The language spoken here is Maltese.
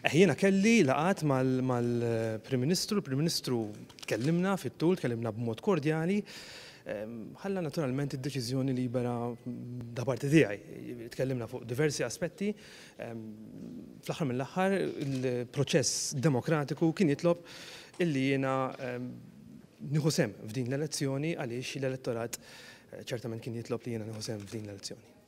Jiena kelli laqgħat mal-Prim Ministru, il-Prim Ministru tkellimna fit-tul, tkellimna b'mod kordjali, ħalla naturalment id-deċiżjoni libera da parti tiegħi. Tkellimna fuq diversi aspetti, fl-aħħar mill-aħħar il-proċess demokratiku kien jitlob illi jiena nieħu sehem f'din l-elezzjoni għaliex l-elettorat ċertament kien jitlob li jiena nieħu sehem f'din l-elezzjoni.